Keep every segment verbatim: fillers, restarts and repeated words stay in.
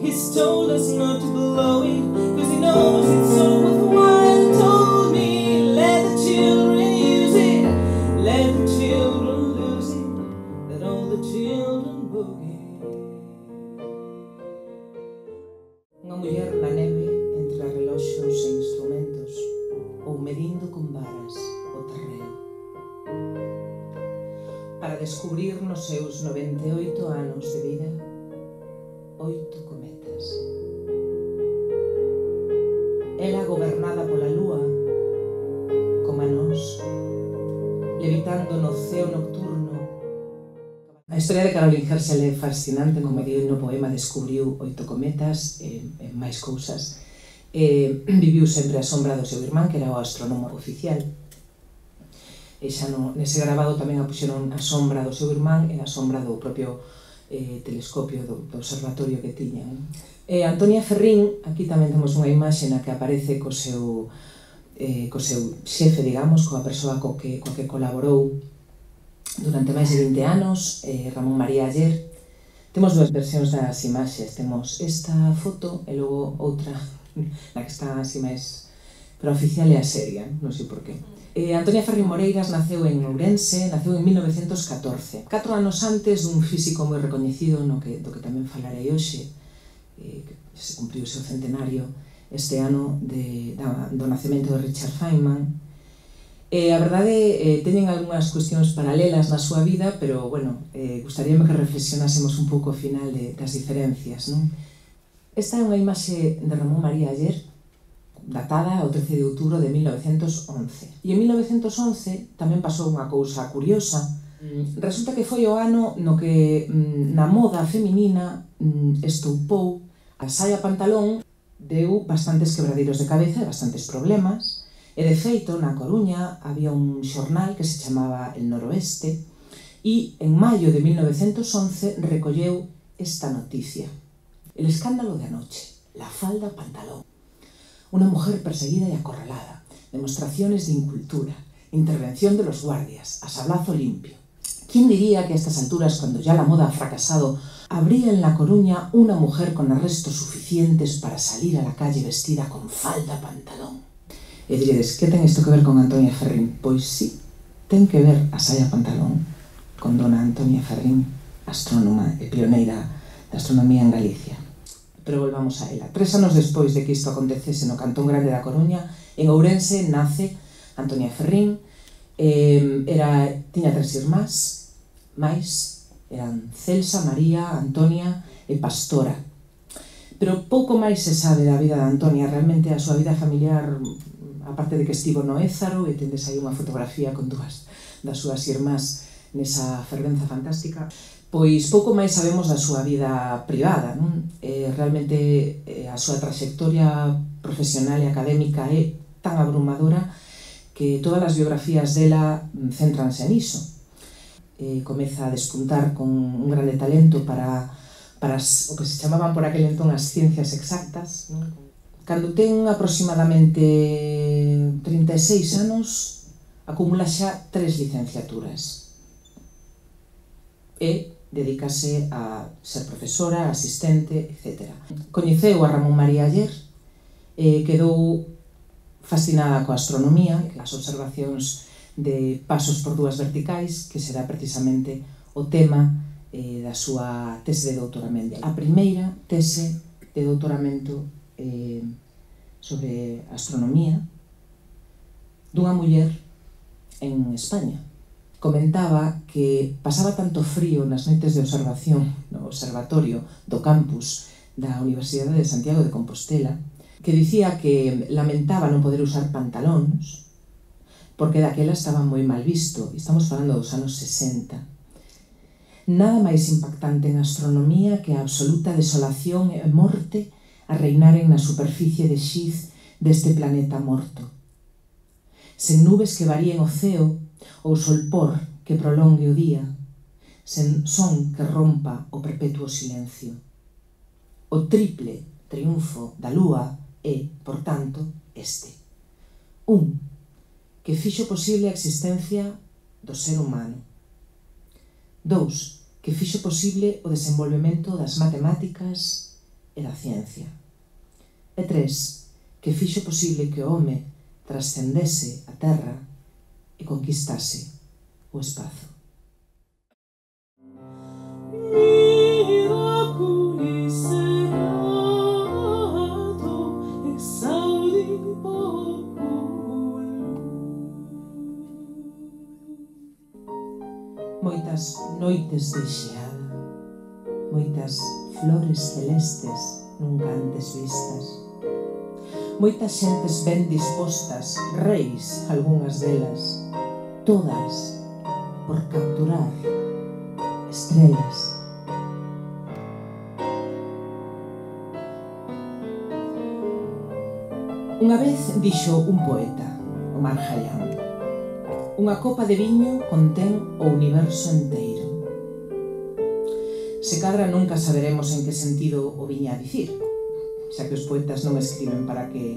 He's told us not to blow it, cause he knows it's all worthwhile. Told me, let the children use it, let the children lose it, let all the children boogie. Unha muller na neve entre reloxos e instrumentos, ou medindo con varas o terreo. Para descubrir nos seus noventa e oito anos de vida oito cometas. Era gobernada pola lúa, como a nós, levitando no ceo nocturno. A historia de Caroline Herschel é fascinante, como di no poema, descubriu oito cometas e, e máis cousas. E viviu sempre a sombra do seu irmán, que era o astrónomo oficial. E xa no, nese grabado tamén a puxeron a sombra do seu irmán e a sombra do propio eh, telescopio do, do observatorio que tiñan. E Antonia Ferrín, aquí tamén temos unha imaxe na que aparece co seu, eh, co seu xefe, digamos, coa persoa co que, co que colaborou durante máis de vinte anos, eh, Ramón María Aller. Temos dúas versións das imaxes, temos esta foto e logo outra na que está así máis... pero a oficial é a seria, non sei por qué. Eh, Antonia Ferrín Moreiras naceu en Ourense, naceu en mil novecentos catorce. Catro anos antes dun físico moi recoñecido, no que, do que tamén falarei hoxe, eh, que se cumpriu o seu centenario este ano de, da, do nacemento de Richard Feynman. Eh, a verdade, eh, teñen algunhas cuestións paralelas na súa vida, pero, bueno, eh, gustaríame que reflexionásemos un pouco ao final de, das diferencias, non? Esta é unha imaxe de Ramón María Aller, datada ao trece de outubro de mil novecentos once. E en mil novecentos once tamén pasou unha cousa curiosa. Resulta que foi o ano no que na moda feminina estoupou a saia pantalón, deu bastantes quebradeiros de cabeza e bastantes problemas. E de feito, na Coruña había un xornal que se chamaba El Noroeste e en maio de mil novecentos once recolleu esta noticia. El escándalo de anoche, la falda pantalón. Una mujer perseguida y acorralada, demostraciones de incultura, intervención de los guardias, a sablazo limpio. ¿Quién diría que a estas alturas, cuando ya la moda ha fracasado, habría en La Coruña una mujer con arrestos suficientes para salir a la calle vestida con falda pantalón? E diredes, que ten isto que ver con Antonia Ferrín? Pois sí, ten que ver a saia pantalón con dona Antonia Ferrín, astrónoma e pioneira da astronomía en Galicia. Pero volvamos a ela. Tres anos despois de que isto acontecese no Cantón Grande da Coruña, en Ourense nace Antonia Ferrín. Eh, era, tiña tres irmás, máis, eran Celsa, María, Antonia e Pastora. Pero pouco máis se sabe da vida de Antonia. Realmente a súa vida familiar, aparte de que estivo no Ézaro, e tendes aí unha fotografía con dúas das súas irmás nesa fervenza fantástica, pois pouco máis sabemos da súa vida privada, non? Eh, realmente eh, a súa traxectoria profesional e académica é tan abrumadora que todas as biografías dela céntranse niso. Eh, comeza a despuntar con un grande talento para, para as, o que se chamaban por aquel entón as ciencias exactas, non? Cando ten aproximadamente trinta e seis anos, acumula xa tres licenciaturas. E dedícase a ser profesora, asistente, etcétera. Coñeceu a Ramón María Aller e quedou fascinada coa astronomía, as observacións de pasos por dúas verticais, que será precisamente o tema eh, da súa tese de doutoramento. A primeira tese de doutoramento eh, sobre astronomía dunha muller en España. Comentaba que pasaba tanto frío nas noites de observación no observatorio do campus da Universidade de Santiago de Compostela que dicía que lamentaba non poder usar pantalóns porque daquela estaba moi mal visto, estamos falando dos anos sesenta. Nada máis impactante en astronomía que a absoluta desolación e morte a reinaren na superficie de xiz deste planeta morto. Sen nubes que varíen o ceo ou solpor que prolongue o día, sen son que rompa o perpetuo silencio. O triple triunfo da lúa é, por tanto, este. Un, que fixo posible a existencia do ser humano. Dous, que fixo posible o desenvolvemento das matemáticas e da ciencia. E tres, que fixo posible que o home trascendese a terra e conquistase o espazo. Moitas noites de xeada, moitas flores celestes nunca antes vistas, moitas xentes ben dispostas, reis, algunhas delas, todas por capturar estrelas. Unha vez dixo un poeta, Omar Khayyam: unha copa de viño contén o universo enteiro. Se cadra nunca saberemos en que sentido o viña a dicir, xa que os poetas non escriben para que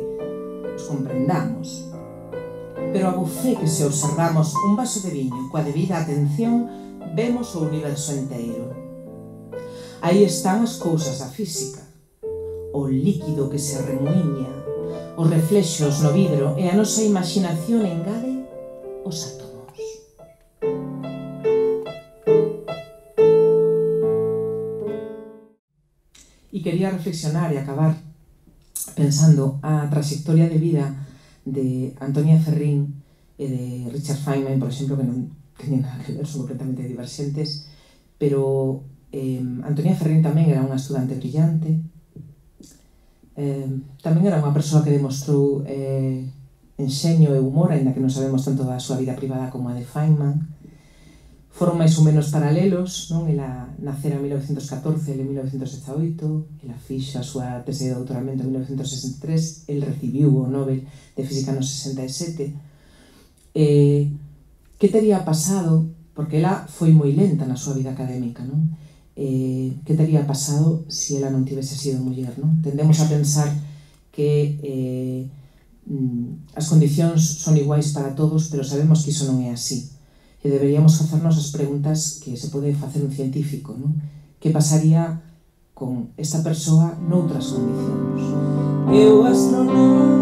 os comprendamos. Pero a bufé que se observamos un vaso de viño coa debida atención, vemos o universo enteiro. Aí están as cousas da física, o líquido que se remuiña, os reflexos no vidro, e a nosa imaxinación engade os átomos. E quería reflexionar e acabar pensando a trayectoria de vida de Antonia Ferrín e de Richard Feynman, por exemplo, que non teñen nada que ver, son completamente diverxentes, pero eh, Antonia Ferrín tamén era unha estudante brillante, eh, tamén era unha persoa que demostrou eh, enxeño e humor, aínda que non sabemos tanto da súa vida privada como a de Feynman. Foron máis ou menos paralelos, non? Ela nacera en mil novecentos catorce, ele en mil novecentos dezaoito, ela fixo a súa tese de doutoramento en mil novecentos sesenta e tres, el recibiu o Nobel de Física no sesenta e sete. Eh, que tería pasado, porque ela foi moi lenta na súa vida académica, non? Eh, que tería pasado se ela non tivese sido muller, non? Tendemos a pensar que eh, as condicións son iguais para todos, pero sabemos que iso non é así. E deberíamos facernos as preguntas que se pode facer un científico, non? Que pasaría con esta persoa noutras condicións? Eu astronauta